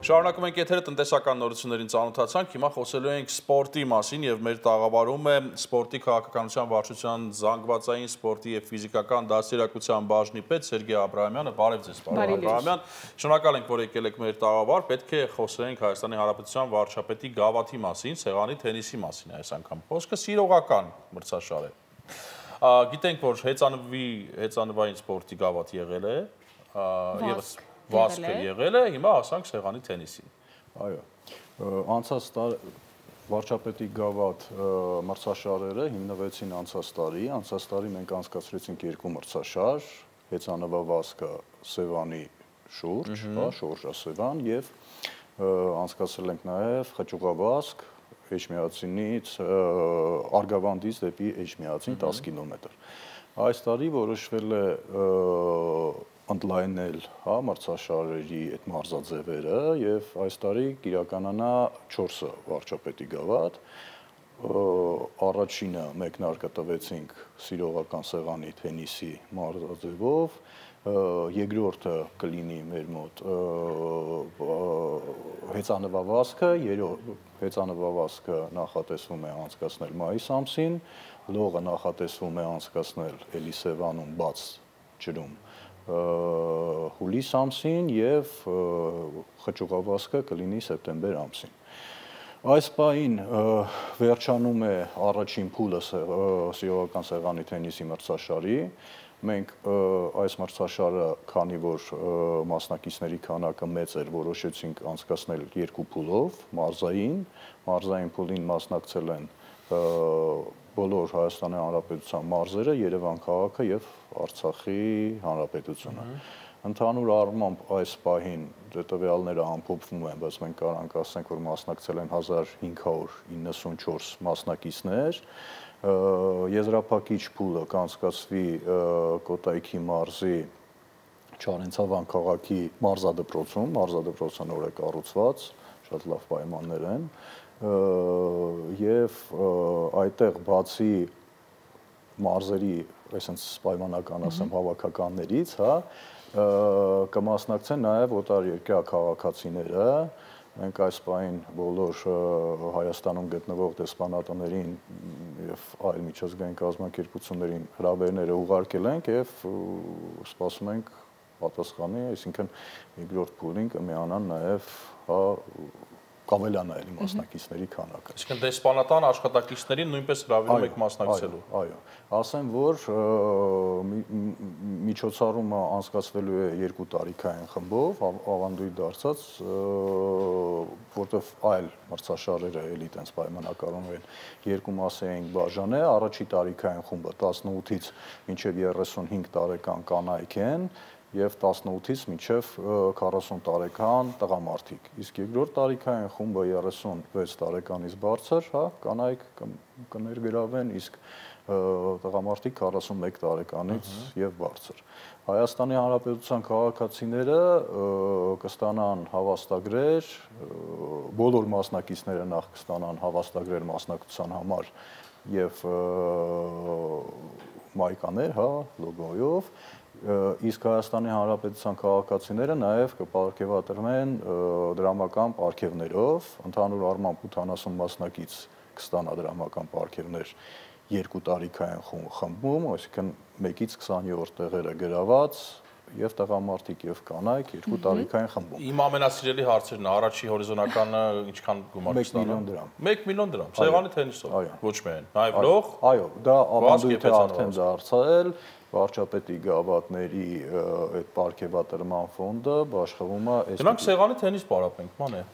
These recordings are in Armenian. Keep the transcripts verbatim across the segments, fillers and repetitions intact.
Շարունակում ենք եթերը տնտեսական նորություններին ծանոթացանք, հիմա խոսելու ենք սպորտի մասին եւ մեր տաղավարում է սպորտի քաղաքականության վարչության զանգվածային սպորտի եւ ֆիզիկական դաստիարակության բաժնի պետ Սերգեյ Աբրահամյանը, բարև ձեզ, պարոն Աբրահամյան, շնորհակալ ենք, որ եկել եք մեր տաղավար, պետք է խոսենք Հայաստանի Հանրապետության վարչապետի գավաթի մասին, սեղանի թենիսի մասին այս անգամ, խոսքը սիրողական մրցաշար է, գիտենք, որ հեծանվի, հեծանվային սպորտի գավաթ եղել է եւ Վասկը եղել է, հիմա ասանք սեղանի թենիսին։ Այո, անցած տարի վարչապետի գավաթ մրցաշարերը հիմնվեցին անցած տարի, անցած տարի մենք անցկացրեցինք երկու մրցաշար, հեծանվավազքը Սևանի շուրջ, շորժասևան եւ անցկացրել ենք նաեւ խճուղավազք Էջմիածինից Արգավանդից դեպի Էջմիածին դես կիլոմետր։ Այս տարի որոշվել է ընդլայնել հա մրցաշարերի այդ մարզաձևերը եւ այս տարի կիրականանա չորսը վարչապետի գավաթ առաջինը մեկնարկը տվեցինք սիրողական սեղանի թենիսի մարզաձևով երկրորդը կլինի մեր մոտ հեծանվավազքը հեծանվավազքը նախատեսվում է անցկացնել մայիս ամսին լողը նախատեսվում է անցկացնել Էլիսեվանում բաց ջրում հուլիս ամսին եւ խճուղավազքը կլինի սեպտեմբեր ամսին։ Այս պահին վերջանում է առաջին փուլը սիրողական սեղանի թենիսի մրցաշարի։ Մենք այս մրցաշարը, քանի որ մասնակիցների քանակը մեծ էր, որոշեցինք անցկացնել երկու փուլով, մարզային, մարզային փուլին մասնակցել են բոլոր Հայաստանի Հանրապետության մարզերը, Երևան քաղաքը եւ Արցախի Հանրապետությունը։ Ընդհանուր առմամբ այս պահին տվյալները ամփոփվում են, բայց մենք կարանք ասենք, որ մասնակցել են հազար հինգ հարյուր իննսունչորս մասնակիցներ։ Եզրափակիչ փուլը կանցկացվի Կոտայքի մարզի Չարենցավան քաղաքի մարզադպրոցում, մարզադպրոցը նոր է կառուցված, շատ լավ պայմաններ են։ Եվ այդտեղ բացի մարզերի, այսինքն պայմանական ասեմ հավաքականներից, հա, կմասնակցեն նաև օտարերկրյա քաղաքացիները, մենք այս պահին բոլոր Հայաստանում գտնվող դեսպանատներին եւ այլ միջազգային կազմակերպություններին հրավերները ուղարկել ենք եւ սպասում ենք պատասխանի, այսինքն երկրորդ փուլին կմիանան նաև հա կավելանա էլի մասնակիցների քանակը։ Այսինքն դեսպանատան աշխատակիցներին նույնպես հրավիրում եք մասնակցելու։ Այո, ասեմ, որ միջոցառումը անցկացվելու է երկու տարիքային խմբով, ավանդույթ դարձած, որտեղ այլ մրցաշարերը էլի տենց պայմանականորեն են երկու մասի ենք բաժանել, առաջի տարիքային խումբը տասնութից մինչև երեսունհինգ տարեկան կանայք են եւ տասնութից մինչև քառասուն տարեկան տղամարդիկ։ Իսկ երկրորդ տարիքային խումբը երեսունվեց տարեկանից բարձր, հա, կանայք կներգրավեն, իսկ տղամարդիկ քառասունմեկ տարեկանից եւ բարձր։ Հայաստանի Հանրապետության քաղաքացիները կստանան հավաստագրեր, բոլոր մասնակիցները նախ կստանան հավաստագրեր մասնակցության համար եւ մայկաներ, հա, լոգոյով իսկ Հայաստանի Հանրապետության քաղաքացիները նաև կպարգևատրվեն դրամական պարգևներով, ընդհանուր առմամբ ութանասուն մասնակից կստանա դրամական պարգևներ երկու տարիքային խմբում, այսինքն մեկից քսաներորդ տեղերը գրաված եւ տղամարդիկ եւ կանայք երկու տարիքային խմբում։ Իմ ամենասիրելի հարցերն է, առաջի հորիզոնականը ինչքան գումար կստանա։ մեկ միլիոն դրամ։ մեկ միլիոն դրամ, սեղանի թենիսով, ոչ միայն, նաև լող։ Այո, դա ավանդույթ է արդեն դարձել, վարչապետի գավաթների այդ պարգևատրման ֆոնդը բաշխվում է այս։ Դրանք սեղանի թենիս պարապենք, ման է։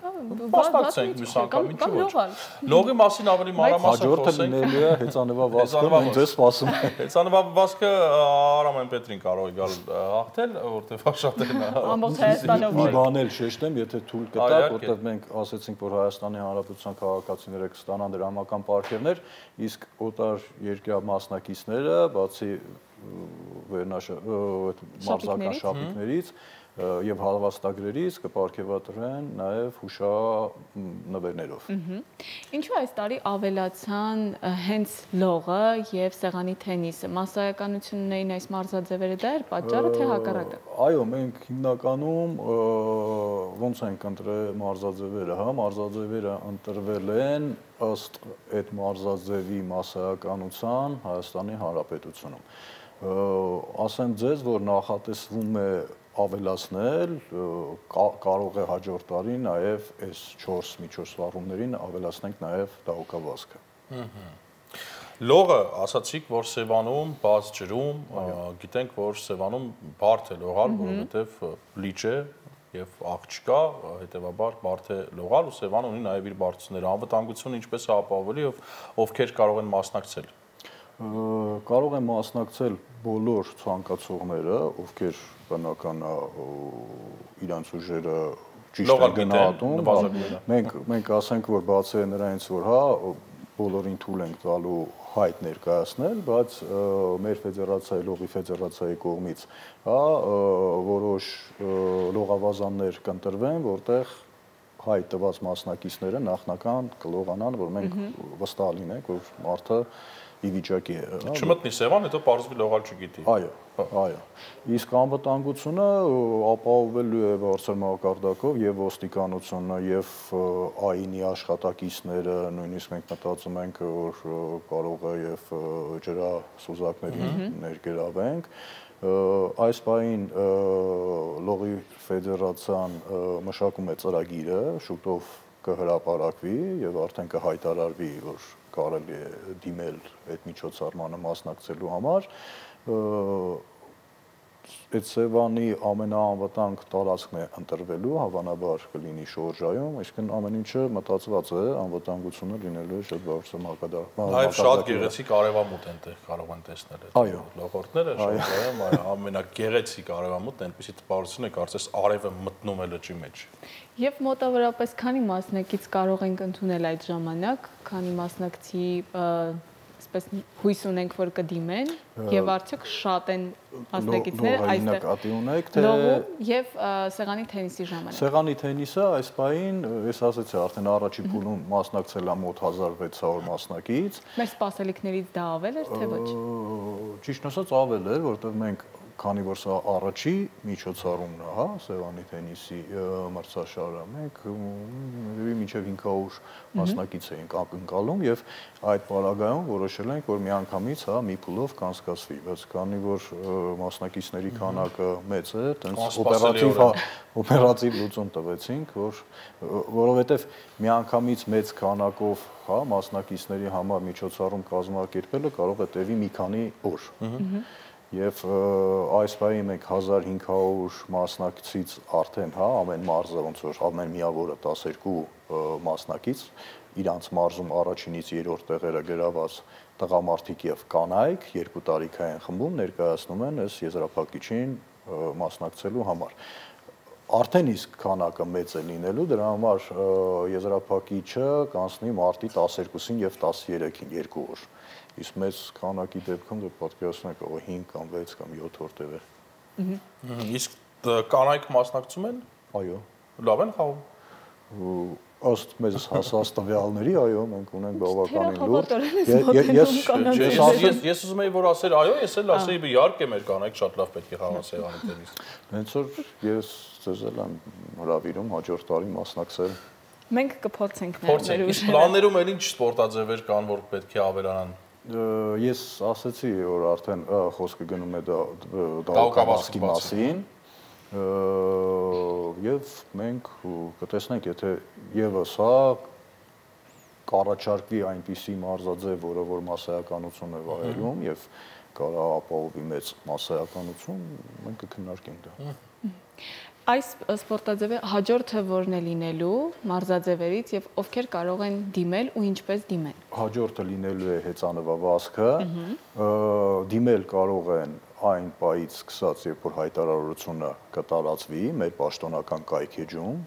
Մասնակցենք մյուս անգամ, ինչու ոչ։ Լողի մասին ավելի մանրամասն խոսենք։ Հաջորդը լինելու է հեծանվավազքը, ոնց է սպասում։ Հեծանվավազքը Արամեն Պետրին կարող է գալ հաղթել, որտեղ շատ են ամբողջ Հայաստանով։ Մի բան էլ շեշտեմ, եթե թույլ կտա, որտեղ մենք ասացինք, որ Հայաստանի Հանրապետության քաղաքացիները կստանան դրամական պարգևներ, իսկ օտար երկրյա մասնակիցները, բացի վերնաշ մարզական շապիկներից եւ հարվածտագրերից կպարգևատրեն նաեւ հուշանվերներով։ Ինչու այս տարի ավելացան հենց լողը եւ սեղանի թենիսը։ Մասսայականությունն էին այս մարզաձևերը, դա էր պատճառը, թե հակառակը։ Այո, մենք հիմնականում ոնց ենք ընտրել մարզաձևերը, հա, մարզաձևերը ընտրվել են ըստ այդ մարզաձևի մասսայականության Հայաստանի Հանրապետությունում։ Ասեմ ձեզ, որ նախատեսվում է ավելացնել, կարող է հաջորդ տարի նաև այս չորս միջոցառումներին ավելացնենք նաև դահուկավազքը։ Լողը, ասացիք, որ Սևանում բաց ջրում, գիտենք, որ Սևանում բարդ է լողալ, որովհետև լիճ է եւ աղ չկա, հետեւաբար բարդ է լողալ ու Սևան ունի նաև իր բարձունները։ Անվտանգությունը ինչպես է ապահովելի եւ ովքեր կարող են մասնակցել։ Կարող են մասնակցել բոլոր ցանկացողները, ովքեր բնական իրանց ուժերը ճիշտ են գնահատում։ Մենք մենք ասենք, որ բացի նրանից, որ հա բոլորին թույլ ենք տալու հայտ ներկայացնել, բայց մեր ֆեդերացիայի, լողի ֆեդերացիայի կողմից հա որոշ լողավազաններ կընտրվեն, որտեղ հայտ տված մասնակիցները նախնական կլողանան, որ մենք վստահ լինենք, որ մարդը ի վիճակի է։ Չմտնի Սևան, հետո պարզվի լողալ չգիտի։ Այո, այո։ Իսկ անվտանգությունը ապահովելու է բարձր մակարդակով եւ ոստիկանությունը եւ ԱԻՆ-ի աշխատակիցները, նույնիսկ մենք մտածում ենք, որ կարող է եւ ջրասուզակներին ներգրավենք։ Այս պահին լողի ֆեդերացիան մշակում է ծրագիրը, շուտով կհրապարակվի եւ արդեն կհայտարարվի, որ կարելի է դիմել այդ միջոցառմանը մասնակցելու համար։ Այդ Սևանի ամենաանվտանգ տարածքն է ընտրվելու, հավանաբար կլինի Շորժայում, այսինքն ամեն ինչը մտածված է, անվտանգությունը լինելու է շատ բարձր մակարդակով։ Նաև շատ գեղեցիկ արևամուտ այնտեղ կարող են տեսնել այդ լողորդները, Շորժայում ամենագեղեցիկ արևամուտն այնպեսի տպավորություն է, կարծես արևը մտնում է լճի մեջ։ Եվ մոտավորապես քանի մասնակից կարող ենք ընդունել այդ ժամանակ, քանի մասնակցի այսպես հույս ունենք, որ կդիմեն եւ արդյոք շատ են մասնակիցները այստեղ լողում եւ սեղանի թենիսի ժամանակ։ Սեղանի թենիսը այս պահին, ես ասացի, արդեն առաջի փուլում մասնակցել է մոտ հազար վեց հարյուր մասնակից։ Մեր սպասելիքներից դա ավել էր, թե ոչ։ Ճիշտ ասած ավել էր, որովհետեւ մենք քանի որ սա առաջի միջոցառումն է, հա, Սևանի թենիսի մրցաշարը, մենք մինչև հինգ հարյուր մասնակից էինք ակնկալում եւ այդ պարագայում որոշել ենք, որ միանգամից, հա, մի փուլով կանցկացվի, բայց քանի որ մասնակիցների քանակը մեծ է, տենց օպերատիվ, հա, օպերատիվ լուծում տվեցինք, որ որովհետեւ միանգամից մեծ քանակով, հա, մասնակիցների համար միջոցառում կազմակերպելը կարող է տևի մի քանի օր։ Եվ այս պահին մենք հազար հինգ հարյուր մասնակցից արդեն, հա, ամեն մարզը ոնց որ ամեն միավորը տասներկու մասնակից, իրանց մարզում առաջինից երրորդ տեղերը գրաված տղամարդիկ եւ կանայք երկու տարիքային խմբում ներկայացնում են այս եզրափակիչին մասնակցելու համար։ Արդեն իսկ քանակը մեծ է լինելու, դրա համար եզրափակիչը կանցնի մարտի տասներկուսին եւ տասներեքին երկու օր։ Իսկ մեծ քանակի դեպքում դե պատկերացնեք, ով հինգ կամ վեց կամ յոթ օր տևեր։ Իսկ կանայք մասնակցում են։ Այո։ Լավ են խաղում։ Ըստ մեզ հասած տվյալների, այո, մենք ունենք բավականին լուրջ։ Ես ես ուզում եի որ ասել, այո, ես էլ ասեի, իհարկե մեր կանայք շատ լավ պետք է խաղան սեղանի տենիս։ Հենց որ ես ձեզ էլ եմ հրավիրում հաջորդ տարի մասնակցել։ Մենք կփորձենք մեր ուժերը։ Իսկ պլաններում էլ ինչ սպորտաձևեր կան, որ պետք է ավելանան։ Ես ասացի, որ արդեն խոսքը գնում է դահուկավազքի մասին եւ մենք կտեսնենք, եթե եւս հա կառաջարկվի այնպիսի մարզաձև, որը որ մասսայականություն է վայելում եւ կարող ապահովի մեծ մասսայականություն, մենք կքննարկենք դա։ Այս սպորտաձևը հաջորդը որն է լինելու մարզաձևերից եւ ովքեր կարող են դիմել ու ինչպես դիմեն։ Հաջորդը լինելու է հեծանվավազքը, դիմել կարող են այն պահից սկսած, երբ որ հայտարարությունը կտարածվի մեր պաշտոնական կայքեջում,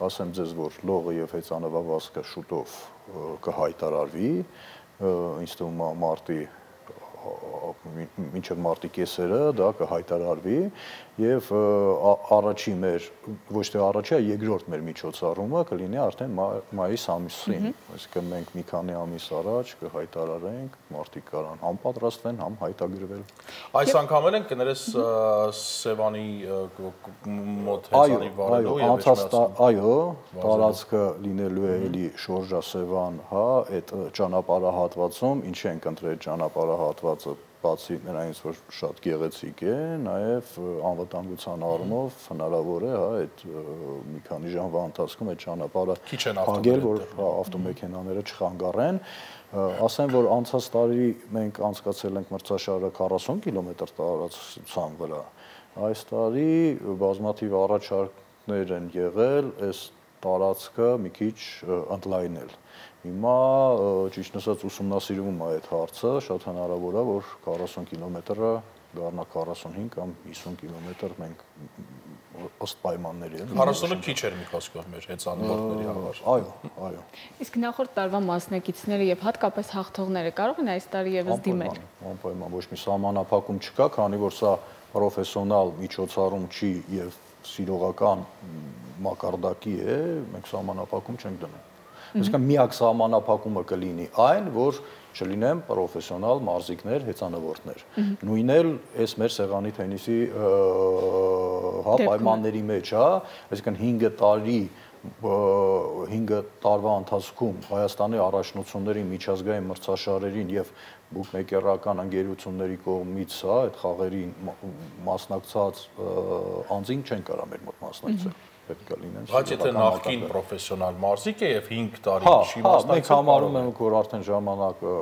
ասեմ ձեզ, որ լողը եւ հեծանվավազքը շուտով կհայտարարվի, ինձ թվում է մարտի մինչև մարտի կեսերը դա կհայտարարվի եւ առաջի մեր ոչ թե առաջի, այլ երկրորդ մեր միջոցառումը կլինի արդեն մայիս ամսին, այսինքն մենք մի քանի ամիս առաջ կհայտարարենք, մարդիկ կարան համ պատրաստվեն, համ հայտագրվել։ Այս անգամ էլ են կներես Սևանի մոտ հեծանի վարելու եւ այո, տարածքը լինելու է էլի Շորժա Սևան, հա, այդ ճանապարհահատվածում, ինչ ենք ընտրել ճանապարհահատվածը բացի նրանից, որ շատ գեղեցիկ է, նաև անվտանգության առումով հնարավոր է, հա, այդ մի քանի ժամվա ընթացքում այդ ճանապարհը փակել, որ ավտոմեքենաները չխանգարեն։ Ասեմ, որ անցած տարի մենք անցկացրել ենք մրցաշարը քառասուն կիլոմետր տարածության վրա։ Այս տարի բազմաթիվ առաջարկներ են եղել այս տարածքը մի քիչ ընդլայնել։ Հիմա ճիշտ ասած ուսումնասիրվում է այդ հարցը, շատ հնարավոր է, որ քառասուն կիլոմետրը դառնա քառասունհինգ կամ հիսուն կիլոմետր մենք ըստ պայմանների էլ։ քառասունը քիչ էր մի խոսքով մեր հեծանվորդների համար։ Այո, այո։ Իսկ նախորդ տարվա մասնակիցները եւ հատկապես հաղթողները կարող են այս տարի եւս դիմել։ Անպայման, ոչ մի սահմանափակում չկա, քանի որ սա պրոֆեսիոնալ միջոցառում չի եւ սիրողական մակարդակի է, մենք սահմանափակում չենք դնում։ Այսինքն միակ սահմանափակումը կլինի այն, որ չլինեն պրոֆեսիոնալ մարզիկներ, հեծանվորդներ։ Նույնն էլ այս մեր սեղանի թենիսի հա պայմանների մեջ, հա, այսինքն հինգ տարի հինգ տարվա ընթացքում Հայաստանի առաջնությունների միջազգային մրցաշարերին եւ բուկմեկերական ընկերությունների կողմից, հա, այդ խաղերին մասնակցած անձին չեն կարա մեր մոտ մասնակցել։ Պետք է լինեն։ Բայց եթե նախկին պրոֆեսիոնալ մարզիկ է եւ հինգ տարի չի մասնակցել, մենք համարում ենք, որ արդեն ժամանակը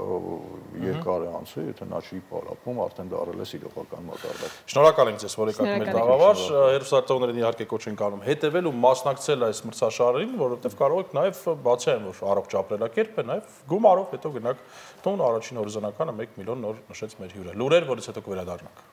երկար է անցել, եթե նա չի պարապում, արդեն դարել է սիրողական մակարդակ։ Շնորհակալ ենք ձեզ, որ եկաք մեր տաղավար, հերոսարտողներին իհարկե կոչ ենք անում հետևել ու մասնակցել այս մրցաշարերին, որովհետեւ կարող եք նաեւ բացի այն, որ առողջ ապրելակերպ է, նաեւ գումարով հետո գնաք տուն, առաջին հորիզոնականը մեկ միլիոն նոր նշեց մեր հյուրը։ Լուրեր, որից հետո կվերադառնանք։